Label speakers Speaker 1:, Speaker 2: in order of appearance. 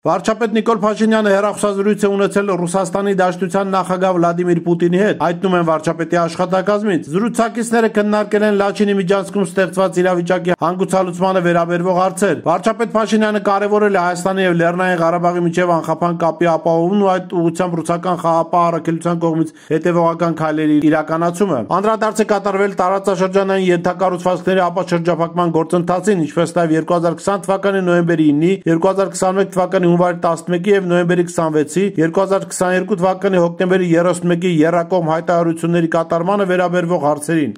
Speaker 1: Վարչապետ Նիկոլ Փաշինյանը հեռախոսազրույց է ունեցել Ռուսաստանի Դաշնության նախագահ Վլադիմիր Պուտինի հետ, հայտնում են վարչապետի աշխատակազմից։ Զրուցակիցները քննարկել են Լաչինի միջանցքում ստեղծված իրավիճակի հանգուցալուծմանը վերաբերող հարցեր։ Վարչապետ Փաշինյանը կարևորել է Հայաստանի եւ Լեռնային Ղարաբաղի միջև անխափան կապի ապահովումն ու այդ ուղղությամբ ռուսական խաղաղապահ առաքելության կողմից հետևողական քայլերի իրականացումը։ Անդրադարձ է կատարվել տարածաշրջանային ենթակառուցվածքների ապաշրջափակման գործընթացին, ինչպես նաեւ 2020 թվականի նոյեմբերի 9-ի, 2021 թվականի հունվարի 11-ի եւ նոյեմբերի 26-ի, 2022 թվականի հոկտեմբերի 31-ի եռակողմ հայտարարությունների կատարմանը վերաբերվող հարցերին։